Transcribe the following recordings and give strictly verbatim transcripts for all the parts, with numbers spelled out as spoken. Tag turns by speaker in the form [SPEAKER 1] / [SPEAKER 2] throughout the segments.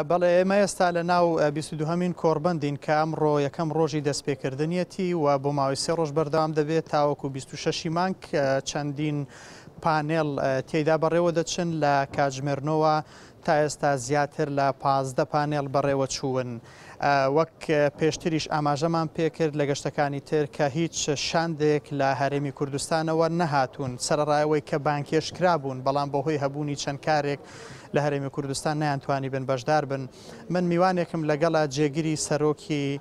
[SPEAKER 1] بەڵێ، ئێمە ئێستا لە ناو بیست و دووهەمین کۆڕبەندین کە ئەمڕۆ یەکەم ڕۆژی دەستپێکردنیەتی و بۆ ماوەی سێ ڕۆژ بەردەوام دەبێت تاوەکو بیست و شەشی مانگ. چەندین پانێل تێیدا بەڕێوە دەچن لە کاتژمێرنەوە تا ئێستا زیاتر لە پازدە پانێل بەڕێوە چوون. وەک پێشتریش ئاماژەمان پێکرد لە گەشتەکانی تر کە هیچ شاندێک لە هەرێمی کوردستانەوە نەهاتوون، سەرەڕایەوەی کە بانکێش کرابوون، بەڵام بەهۆی هەبوونی چەند کارێک لە هەرێمی کوردستان نەیانتوانی بن بەشدار بن. من میوانێکم لەگەڵە جێگری سەرۆکی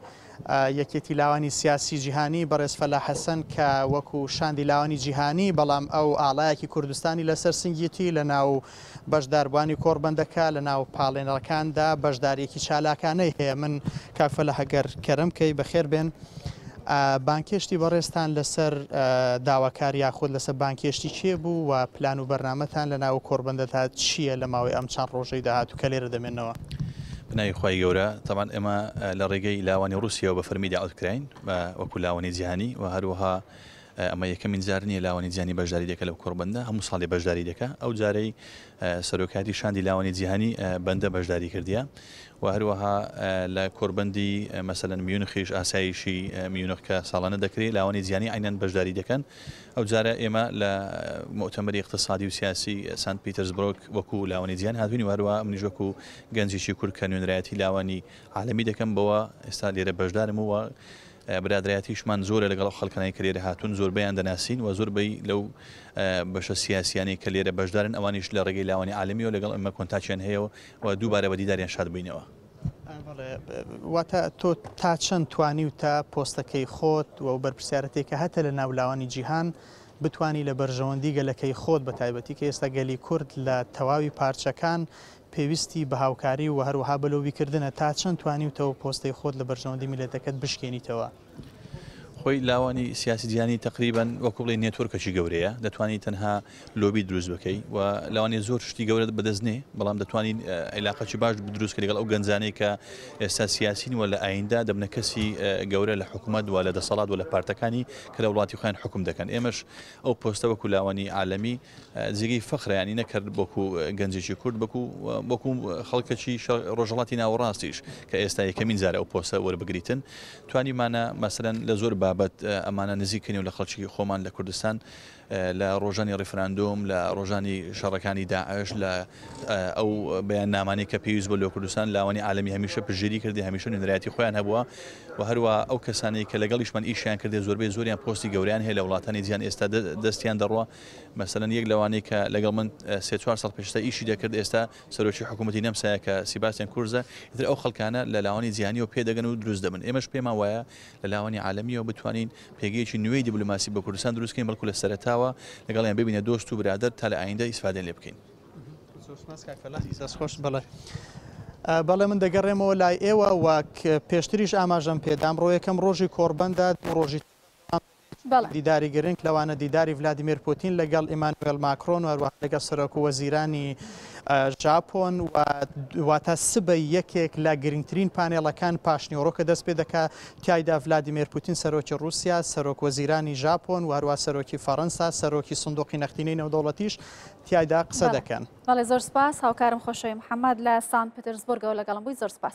[SPEAKER 1] یەکێتی لاوانی سیاسی جیهانی بەڕێز فەلاح حەسەن کە وەکو شاندی لاوانی جیهانی، بەڵام ئەو ئاڵایەکی کوردستانی لەسەر سنگیتی لە ناو بەشداربووانی کۆڕبەندەکە لە ناو پاڵێنەرەکاندا بەشداریەکی چالاکانەی هەیە. من کاک فەلاح ئەگەر کەرم کەی بەخێر بێن. بانکێشتی بەڕێزتان لەسەر داواکاری یاخود لەسەر بانکێشتی کێ بوو و پلان و بەرنامەتان لە ناو کۆڕبەندەدا چییە لە ماوەی ئەم چەند ڕۆژەی داهاتوو کە لێرە دەمێنەوە؟
[SPEAKER 2] بناوی خوای گەورە، تەبعەن ئێمە لە ڕێگەی لاوانی ڕووسیەوە بە فەرمی داوت کراین وەکو لاوانی جیهانی و هەروەها ئەمە یەکەمین جار نییە لاوانی جیهانی بەشداری دەکە لەو کۆڕبەندە، هەموو ساڵی بەشداری دەکە. ئەو جارەی سەرۆکاتی شاندی لاوانی جیهانی بەندە بەشداری کردیە و هەروەها لە کۆربەندی مەسەلەن میونخیش ئاسایشی میونخ کە ساڵانە دەکرێت لاوانی جیهانی عینەن بەشداری دەکەن. ئەو جارە ئێمە لە مؤتەمەری اقتصادی و سیاسی سانت پیتەرزبرۆگ وەکو لاوانی جیهان هاتوین و هەروەها منیش وەکو گەنجێکی کورد کە نوێنەرایەتی لاوانی عالەمی دەکەم بەوە ئێستا لێرە بەشدارم و برادرایەتیشمان زۆرە لەگەڵ ئەو خەڵکانەی کە لێرە هاتوون، زۆربەیان دەناسین و زۆربەی لەو بەشە سیاسیانەی کە لێرە بەشدارن ئەوانیش لە ڕێگەی لاوانی عالەمیەوە لەگەڵ ئەمە کۆنتاکیان هەیە و دووبارە بە دیداریان شاد بووینەوە.
[SPEAKER 1] واتە تۆ تا چەند توانی و تا پۆستەکەی خۆت و بەرپرسیارەتێک کە هەتە لە ناو لاوانی جیهان بتوانی لە بەرژەوەندی گەلەکەی خۆت بە تایبەتی کە ئێستا گەلی کورد لە تەواوی پارچەکان پێویستی بە هاوکاری و هەروەها بەلۆبیکردنە، تا چەند توانیوتەوە پۆستەی خۆت لە بەرژەوەندی میللەتەکەت بشکێنیتەوە؟
[SPEAKER 2] خۆی لاوانی سیاسی جیهانی تقریبا وەکو بڵێ نێتۆرکێکی گەورەیە، دەتوانی تەنها لۆبی دروست بکەی و لاوانی زۆر شتی گەورە بەدەست نێ، بەڵام دەتوانین عیلاقەکی باش دروست کەی لەگەڵ ئەو گەنجانەی کە ئێستا سیاسین و لە ئایندە دەبنە کەسی گەورە لە حکوومەت و لە دەسەڵات و لە پارتەکانی کە لە وڵاتی خۆیان حکوم دەکەن. ئێمەش ئەو پۆستە وەکو لاوانی عالەمی جێگەی فەخرە، نەکرد وەکو گەنجێکی کورد وەکو خەڵکێکی ڕۆژهەڵاتی ناوەڕاستیش کە ئێستا یەکەمین جارە ئەو پۆستە وەربگریتن. توانیمانە مەسەلەن لە زۆر بابەت ئەمانە نزیکەین و لە خەڵکی خۆمان لە کوردستان لە ڕۆژانی ڕیفراندۆم، لە ڕۆژانی شەڕەکانی داعش، لە ئەو بەیاننامانەی کە پێویست بۆ لە کوردستان لاوانی عالەمی هەمیشە پشتگیری کردی، هەمیشە نوێنەرایەتی خۆیان هەبووە و هەروە ئەو کەسانەی کە لەگەڵیشمان ئیشیان کردێ زۆربەی زۆریان پۆستی گەوریان هەیە لە وڵاتانی جیهان ئێستا دەستیان دەڕوە. مەسەلەن یەک لەوانەی کە لەگەڵ من سێ چوار ساڵ پێشتا ئیشی دەکرد ئێستا سەرۆکی حکوومەتی نەمسایە کە سیباستیان کورزە، ئیتر ئەو خەڵکانە لە لاوانی جیهانیەوە پێدەگەن و دروست دەبن. ئێمەش پێمان وایە لە لاوانی عالەمیەوە بتوانین پێگەیەکی نوێی دیبلۆماسی بە کوردستان دروست بکەین، بەڵکو لە سەرەتاوە لەگەڵیان ببینە دۆست و برادەر تا لە ئایندە ئیسفادەیان لێ بکەین.
[SPEAKER 1] خۆش بەڵێ. بەڵێ من دەگەڕێمەوە لای ئێوە وەک پێشتریش ئاماژەم پێدام ڕۆ یەکەم ڕۆژی کۆڕبەندە دوو ڕۆژی دیداری گرنگ لەوانە دیداری ڤلادیمیر پوتین لەگەڵ ئیمانوێل ماکرۆن و هەروەها لەگەڵ سەرۆک وەزیرانی ژاپۆن و واتە سبەی یەکێک لە گرنگترین پانێڵەکان پاشنیوەڕۆ کە دەست پێ دەکات تیایدا ڤلادیمیر پوتین سەرۆکی رووسیا، سەرۆک وەزیرانی ژاپۆن و هەروەها سەرۆکی فەڕەنسا، سەرۆکی سندوقی نەختینەی نێودەوڵەتیش تیایدا قسە دەکەن.
[SPEAKER 3] بەڵێ زۆر سپاس. هاوکارم خۆشەوی محەممەد لە سان پترسبورگەوە لەگەڵم بووی. زۆر سپاس.